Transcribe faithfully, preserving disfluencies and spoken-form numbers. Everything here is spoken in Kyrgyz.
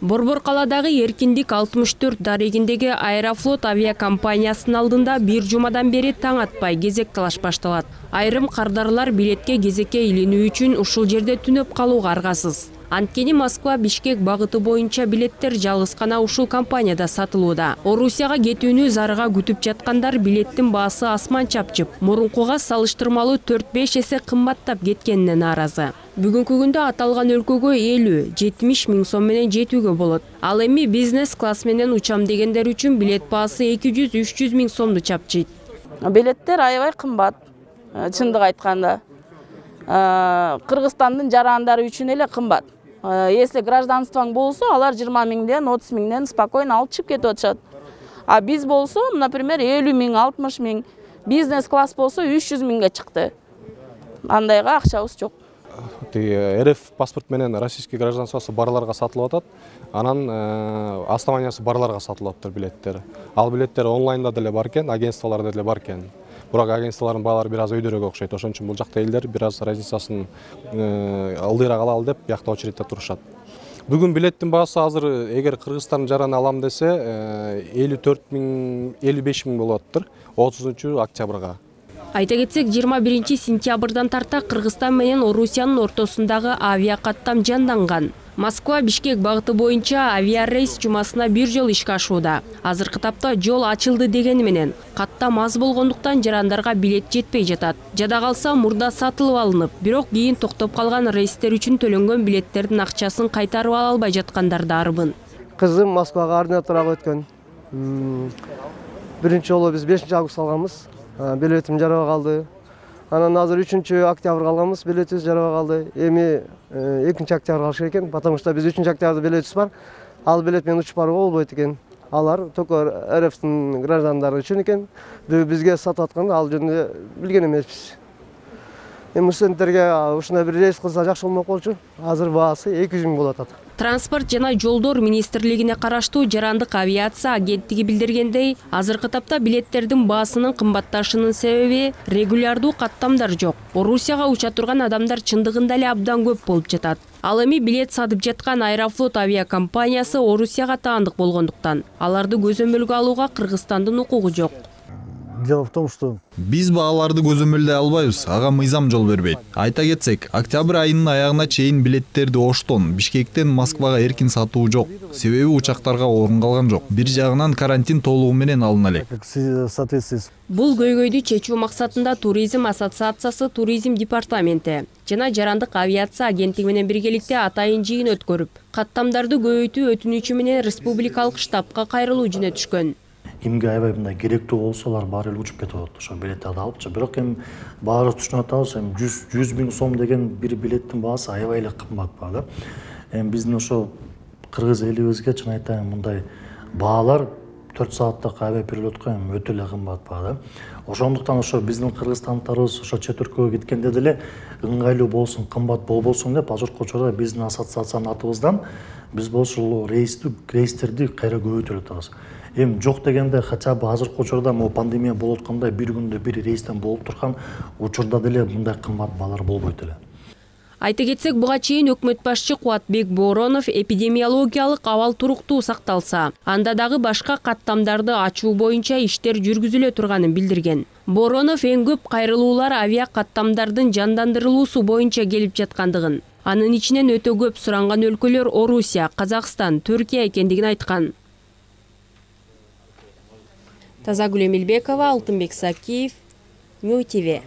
Борбор каладагы Эркиндик алтымыш төрт дарегиндеги Аэрофлот авиакомпаниясынын алдында бир жумадан бери таң атпай кезек талаш башталат. Айрым кардарлар билетке кезекке илинүү үчүн ушул жерде түнөп калууга аргасыз. Анткени Москва Бишкек багыты боюнча билеттер жалгыз гана ушул компанияда сатылууда. Орусияга кетүүнү зарыга күтүп жаткандар билеттин баасы асман чапчып, мурункуга салыштырмалуу төрт беш эсе кымбаттап кеткенине нааразы. Бүгүнкү күндө аталган өлкөгө элүү жетимиш миң сом менен жетүүгө болот. Ал эми бизнес класс менен учам дегендер үчүн билет баасы эки жүз үч жүз миң сомду чапчыйт. Билеттер аябай кымбат, чындык айтканда. Кыргызстандын жарандары үчүн эле кымбат. Если гражданствоң болсо, алар жыйырма миңден, отуз миңден спокойно алып чыгып кетип атышат. А биз болсо, например, элүү миң, алтымыш миң, бизнес класс болсо үч жүз миңге чыкты. Андайга акчабыз жок. эр эф паспорт менен российский гражданствосы барларга сатылып атат. Анан основаниясы барларга сатылып атат билеттер. Ал билеттер онлайнда деле бар экен, агентстволордо деле бар экен. Бирок агентстволордун баалары бир аз өйдөрөөк окшойт. Ошон үчүн бул жакта элдер бир аз разницасын ылдыйраак алалы деп биякта очередте турушат. Бүгүн билеттин баасы азыр эгер Кыргызстандын жараны алам десе элүү төрт миң, элүү беш миң болуп атыптыр отузунчу октябрга. Айта кетсек, жыйырма биринчи сентябрдан тарта Кыргызстан менен Орусиянын ортосундагы авиакаттам жанданган. Москва Бишкек багыты боюнча авиарейс жумасына бир жол ишке ашууда. Азыркы тапта жол ачылды дегени менен каттам аз болгондуктан жарандарга билет жетпей жатат. Жада калса мурда сатылып алынып, бирок кийин токтоп калган рейстер үчүн төлөнгөн билеттердин акчасын кайтарып ала албай жаткандар да арбын. Кызым Москвага ординаторго өткөн. Биринчи жолу биз бешинчи август алганбыз. Билетим жараба калды. Анан азыр үчүнчү октябрга алганбыз, билетибиз жараба калды. Эми экинчи октябрга алыш керек экен, потому что биз үчүнчү октябрда билетибиз бар. Ал билет менен учуп барууга болбойт экен. Алар только эр эфтин граждандары үчүн экен. Бизге сатып атканда ал жөнүндө билген эмеспиз. Эми студенттерге ушундай бир рейс кылса жакшы болмок болчу. Азыр баасы эки жүз миң болуп атат. Транспорт жана жолдор министрлигине караштуу жарандык авиация агенттиги билдиргендей, азыркы тапта билеттердин баасынын кымбатташынын себеби регулярдуу каттамдар жок. Орусияга уча турган адамдар чындыгында эле абдан көп болуп жатат. Ал эми билет сатып жаткан Аэрофлот авиакомпаниясы Орусияга таандык болгондуктан аларды көзөмөлгө алууга Кыргызстандын укугу жок. Дело в том, что биз бааларды көзөмөлдөй албайбыз, ага мыйзам жол бербейт. Айта кетсек, октябрь айынын аягына чейин билеттерди Оштон, Бишкектен Москвага эркин сатуу жок. Себеби учактарга орун калган жок. Бир жагынан карантин толугу менен алына элек. Бул көйгөйдү чечүү максатында Туризм ассоциациясы Туризм департаменти жана жарандык авиация агенттиги менен биргеликте атайын жыйын өткөрүп, каттамдарды көбөйтүү өтүнүчү менен республикалык штабка кайрылуу жөнөтүшкөн. Кимге аябай мындай керектүү болсо алар баары эле учуп кетип атат, ошо билеттерди алыпчы. Бирок эми баарыбыз түшүнүп атабыз, эми жүз миң сом деген бир билеттин баасы аябай эле кымбат баа да. Эми биздин ошо кыргыз элибизге чын айтайын мындай баалар төрт сааттык авиаперелетко эми өтө эле кымбат баа да. Ошондуктан ошо биздин кыргызстандыктарыбыз ошо чет өлкөгө кеткенде деле ыңгайлуу болсун, кымбат болбосун деп азыркы учурда биздин ассоциациянын атыбыздан биз болсо рейстерди кайра көбөйтүп атабыз. Эми жок дегенде хотя бы азыркы учурда могу пандемия болуп аткандай бир күндө бир рейстен болуп турган учурда деле мындай кымбат баалар болбойт эле. Айта кетсек, буга чейин өкмөт башчы Кубатбек Боронов эпидемиологиялык абал туруктуу сакталса, анда дагы башка каттамдарды ачуу боюнча иштер жүргүзүлө турганын билдирген. Боронов эң көп кайрылуулар авиа каттамдардын жандандырылуусу боюнча келип жаткандыгын, анын ичинен өтө көп суранган өлкөлөр Орусия, Казакстан, Түркия экендигин айткан. Тазагүл Эмилбекова, Алтынбек Сакиев, Нью ТВ.